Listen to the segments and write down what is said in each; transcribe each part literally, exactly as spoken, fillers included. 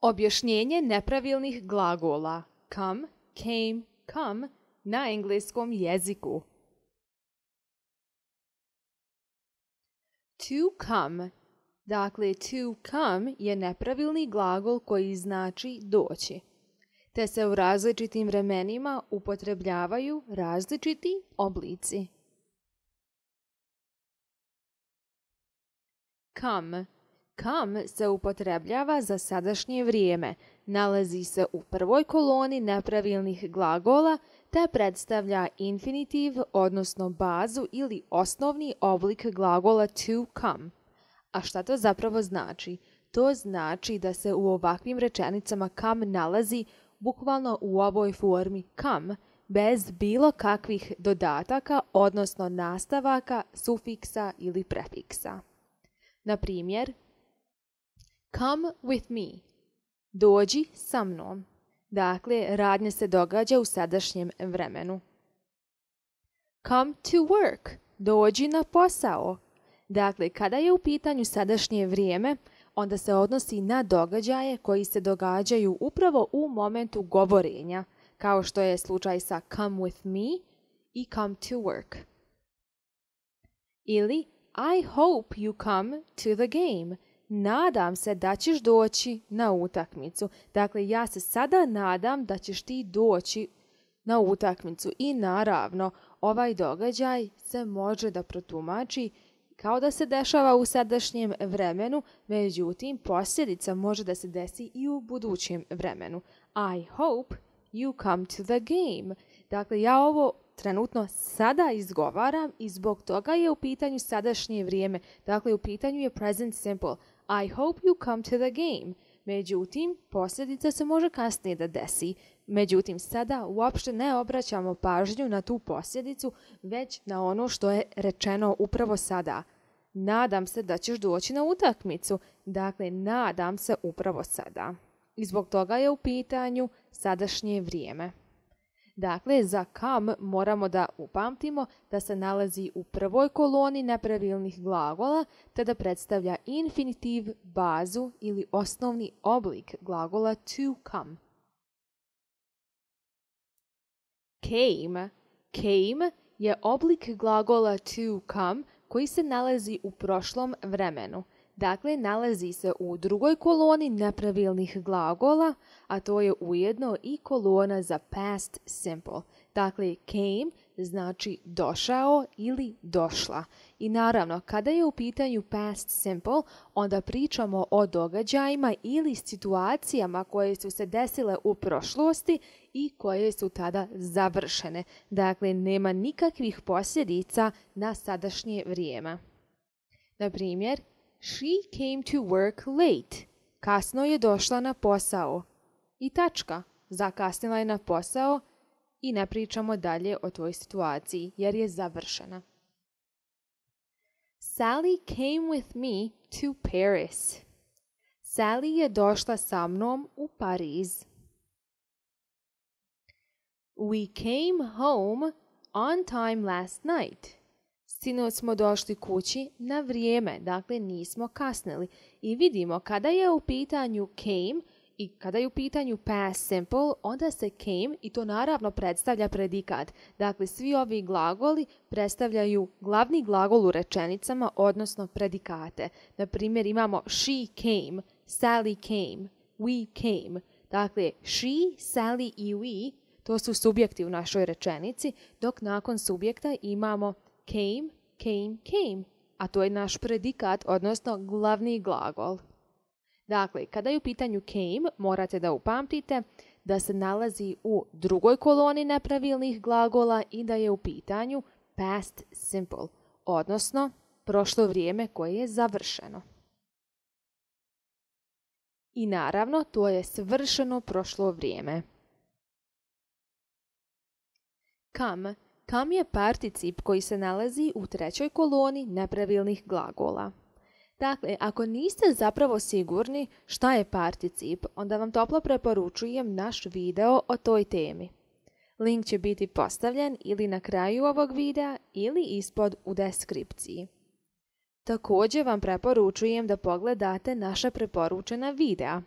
Objašnjenje nepravilnih glagola come, came, come na engleskom jeziku. To come. Dakle, to come je nepravilni glagol koji znači doći, te se u različitim vremenima upotrebljavaju različiti oblici. Come. Come se upotrebljava za sadašnje vrijeme, nalazi se u prvoj koloni nepravilnih glagola te predstavlja infinitiv, odnosno bazu ili osnovni oblik glagola to come. A šta to zapravo znači? To znači da se u ovakvim rečenicama come nalazi bukvalno u ovoj formi come, bez bilo kakvih dodataka, odnosno nastavaka, sufiksa ili prefiksa. Na primjer, come with me. Dođi sa mnom. Dakle, radnja se događa u sadašnjem vremenu. Come to work. Dođi na posao. Dakle, kada je u pitanju sadašnje vrijeme, onda se odnosi na događaje koji se događaju upravo u momentu govorenja, kao što je slučaj sa come with me i come to work. Ili I hope you come to the game. Nadam se da ćeš doći na utakmicu. Dakle, ja se sada nadam da ćeš ti doći na utakmicu. I naravno, ovaj događaj se može da protumači kao da se dešava u sadašnjem vremenu, međutim, posljedica može da se desi i u budućem vremenu. I hope you come to the game. Dakle, ja ovo trenutno sada izgovaram i zbog toga je u pitanju sadašnje vrijeme. Dakle, u pitanju je present simple. I hope you come to the game. Međutim, posljedica se može kasnije da desi. Međutim, sada uopšte ne obraćamo pažnju na tu posljedicu, već na ono što je rečeno upravo sada. Nadam se da ćeš doći na utakmicu. Dakle, nadam se upravo sada. I zbog toga je u pitanju sadašnje vrijeme. Dakle, za come moramo da upamtimo da se nalazi u prvoj koloni nepravilnih glagola, te da predstavlja infinitiv, bazu ili osnovni oblik glagola to come. Came. Came je oblik glagola to come koji se nalazi u prošlom vremenu. Dakle, nalazi se u drugoj koloni nepravilnih glagola, a to je ujedno i kolona za past simple. Dakle, came znači došao ili došla. I naravno, kada je u pitanju past simple, onda pričamo o događajima ili situacijama koje su se desile u prošlosti i koje su tada završene. Dakle, nema nikakvih posljedica na sadašnje vrijeme. Na primjer, She came to work late. Kasno je došla na posao. I tačka. Zakasnila je na posao i ne pričamo dalje o toj situaciji jer je završena. Sally came with me to Paris. Sally je došla sa mnom u Pariz. We came home on time last night. Sinoć smo došli kući na vrijeme, dakle nismo kasnili. I vidimo kada je u pitanju came i kada je u pitanju past simple, onda se came i to naravno predstavlja predikat. Dakle, svi ovi glagoli predstavljaju glavni glagol u rečenicama, odnosno predikate. Na primjer, imamo she came, Sally came, we came. Dakle, she, Sally i we, to su subjekti u našoj rečenici, dok nakon subjekta imamo came, came, came, a to je naš predikat, odnosno glavni glagol. Dakle, kada je u pitanju came, morate da upamtite da se nalazi u drugoj koloni nepravilnih glagola i da je u pitanju past simple, odnosno prošlo vrijeme koje je završeno. I naravno, to je svršeno prošlo vrijeme. Come. Come je particip koji se nalazi u trećoj koloni nepravilnih glagola. Dakle, ako niste zapravo sigurni šta je particip, onda vam toplo preporučujem naš video o toj temi. Link će biti postavljen ili na kraju ovog videa ili ispod u deskripciji. Također vam preporučujem da pogledate naša preporučena videa.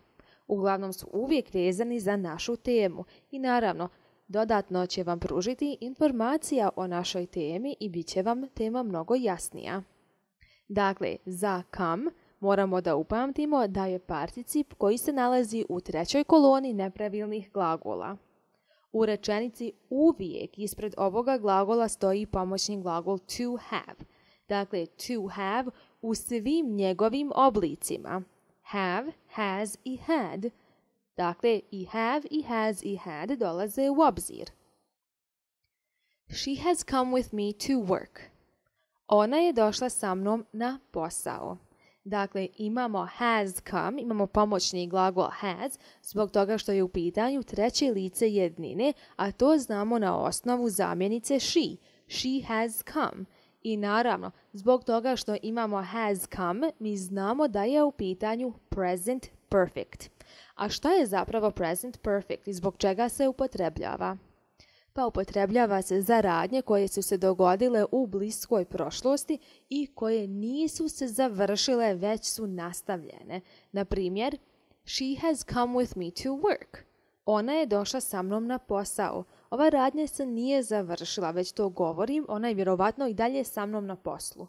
Uglavnom su uvijek vezani za našu temu i naravno dodatno će vam pružiti informacija o našoj temi i bit će vam tema mnogo jasnija. Dakle, za come moramo da upamtimo da je particip koji se nalazi u trećoj koloni nepravilnih glagola. U rečenici uvijek ispred ovoga glagola stoji pomoćni glagol to have. Dakle, to have u svim njegovim oblicima. Have, has i had. Dakle, i have, i has, i had dolaze u obzir. She has come with me to work. Ona je došla sa mnom na posao. Dakle, imamo has come, imamo pomoćni glagol has, zbog toga što je u pitanju treće lice jednine, a to znamo na osnovu zamjenice she. She has come. I naravno, zbog toga što imamo has come, mi znamo da je u pitanju present perfect. A šta je zapravo present perfect i zbog čega se upotrebljava? Pa upotrebljava se za radnje koje su se dogodile u bliskoj prošlosti i koje nisu se završile, već su nastavljene. Na primjer, she has come with me to work. Ona je došla sa mnom na posao. Ova radnja se nije završila, već to govorim, ona je vjerovatno i dalje sa mnom na poslu.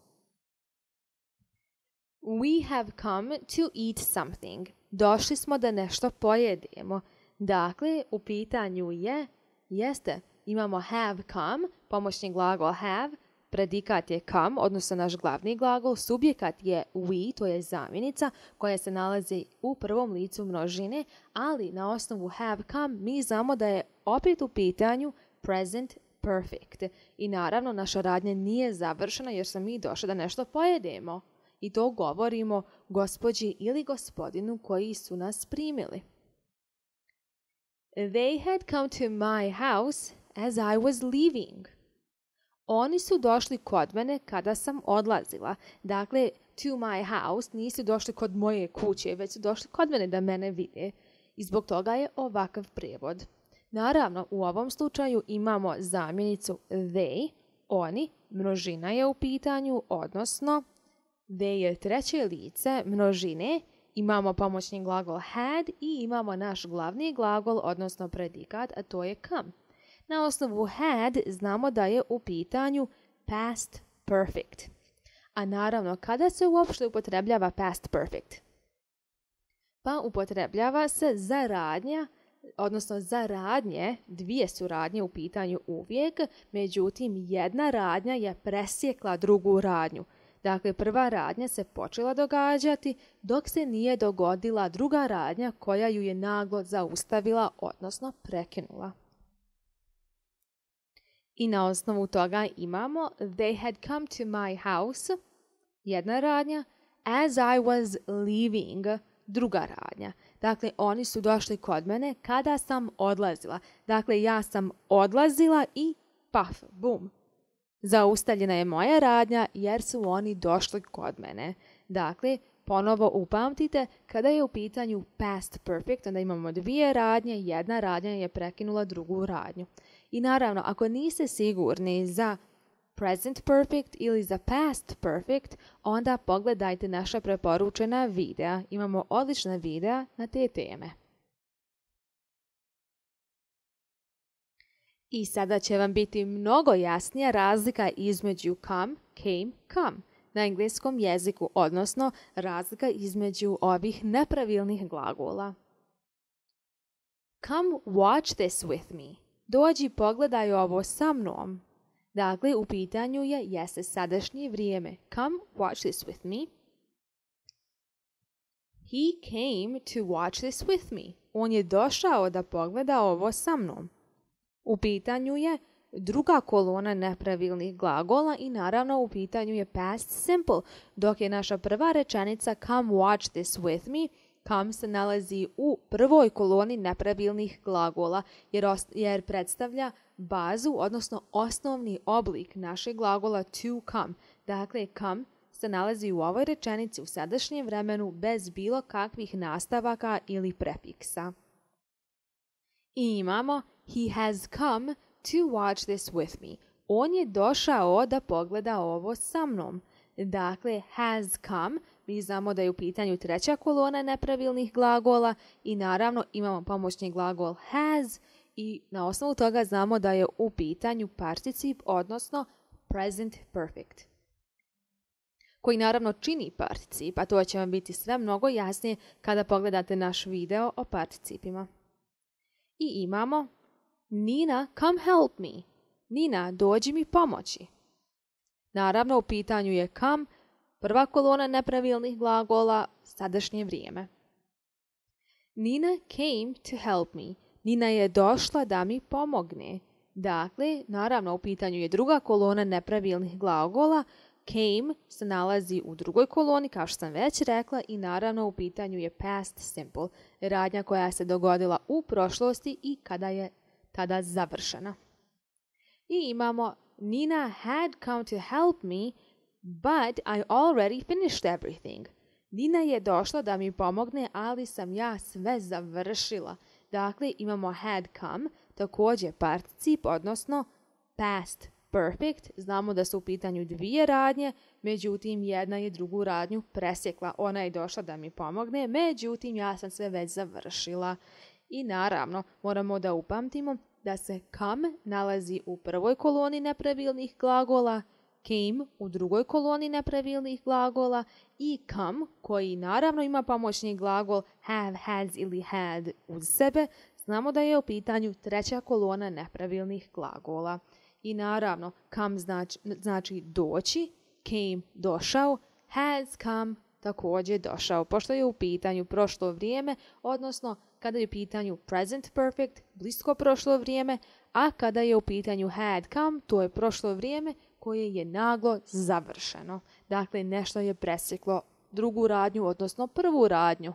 We have come to eat something. Došli smo da nešto pojedemo. Dakle, u pitanju je, jeste, imamo have come, pomoćni glagol have, predikat je come, odnosno naš glavni glagol, subjekat je we, to je zamjenica koja se nalazi u prvom licu množine, ali na osnovu have come mi znamo da je opet u pitanju present perfect. I naravno naša radnja nije završena jer smo mi došli da nešto pojedemo. I to govorimo gospođi ili gospodinu koji su nas primili. They had come to my house as I was leaving. Oni su došli kod mene kada sam odlazila. Dakle, to my house nisu došli kod moje kuće, već su došli kod mene da mene vide. I zbog toga je ovakav prijevod. Naravno, u ovom slučaju imamo zamjenicu they, oni, množina je u pitanju, odnosno they je treće lice množine, imamo pomoćni glagol had i imamo naš glavni glagol, odnosno predikat, a to je come. Na osnovu had znamo da je u pitanju past perfect. A naravno, kada se uopšte upotrebljava past perfect? Pa upotrebljava se za radnja, odnosno za radnje, dvije su radnje u pitanju uvijek, međutim jedna radnja je presjekla drugu radnju. Dakle, prva radnja se počela događati dok se nije dogodila druga radnja koja ju je naglo zaustavila, odnosno prekinula. I na osnovu toga imamo they had come to my house, jedna radnja, as I was leaving, druga radnja. Dakle, oni su došli kod mene kada sam odlazila. Dakle, ja sam odlazila i paf, bum. Zaustavljena je moja radnja jer su oni došli kod mene. Dakle, ponovo upamtite, kada je u pitanju past perfect, onda imamo dvije radnje, jedna radnja je prekinula drugu radnju. I naravno, ako niste sigurni za present perfect ili za past perfect, onda pogledajte naša preporučena videa. Imamo odlična videa na te teme. I sada će vam biti mnogo jasnija razlika između come, came, come na engleskom jeziku, odnosno razlika između ovih nepravilnih glagola. Come watch this with me. Dođi pogledaj ovo sa mnom. Dakle, u pitanju je jeste sadašnje vrijeme. Come watch this with me. He came to watch this with me. On je došao da pogleda ovo sa mnom. U pitanju je druga kolona nepravilnih glagola i naravno u pitanju je past simple, dok je naša prva rečenica come watch this with me, come se nalazi u prvoj koloni nepravilnih glagola jer, jer predstavlja bazu, odnosno osnovni oblik našeg glagola to come. Dakle, come se nalazi u ovoj rečenici u sadašnjem vremenu bez bilo kakvih nastavaka ili prefiksa. I imamo he has come to watch this with me. On je došao da pogleda ovo sa mnom. Dakle, has come mi znamo da je u pitanju treća kolona nepravilnih glagola i naravno imamo pomoćni glagol has i na osnovu toga znamo da je u pitanju particip, odnosno present perfect, koji naravno čini particip, a to će vam biti sve mnogo jasnije kada pogledate naš video o participima. I imamo Nina, come help me. Nina, dođi mi pomoći. Naravno, u pitanju je come, prva kolona nepravilnih glagola, sadašnje vrijeme. Nina came to help me. Nina je došla da mi pomogne. Dakle, naravno, u pitanju je druga kolona nepravilnih glagola. Came se nalazi u drugoj koloni, kao što sam već rekla, i naravno u pitanju je past simple, radnja koja se dogodila u prošlosti i kada je tada završena. I imamo Nina had come to help me, but I already finished everything. Nina je došla da mi pomogne, ali sam ja sve završila. Dakle, imamo had come, također particip, odnosno past perfect. Znamo da su u pitanju dvije radnje, međutim jedna je drugu radnju presjekla. Ona je došla da mi pomogne, međutim ja sam sve već završila. I naravno, moramo da upamtimo da se come nalazi u prvoj koloni nepravilnih glagola, came u drugoj koloni nepravilnih glagola i come, koji naravno ima pomoćni glagol have, has ili had uz sebe, znamo da je u pitanju treća kolona nepravilnih glagola. I naravno, come znači, znači doći, came došao, has come također došao, pošto je u pitanju prošlo vrijeme, odnosno kada je u pitanju present perfect, blisko prošlo vrijeme, a kada je u pitanju had come, to je prošlo vrijeme koje je naglo završeno. Dakle, nešto je presjeklo drugu radnju, odnosno prvu radnju.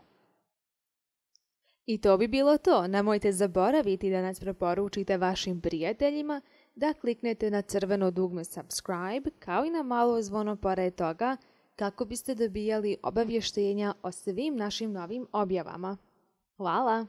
I to bi bilo to. Nemojte zaboraviti da nas preporučite vašim prijateljima, da kliknete na crveno dugme subscribe, kao i na malo zvono pored toga, kako biste dobijali obavještenja o svim našim novim objavama. Hvala!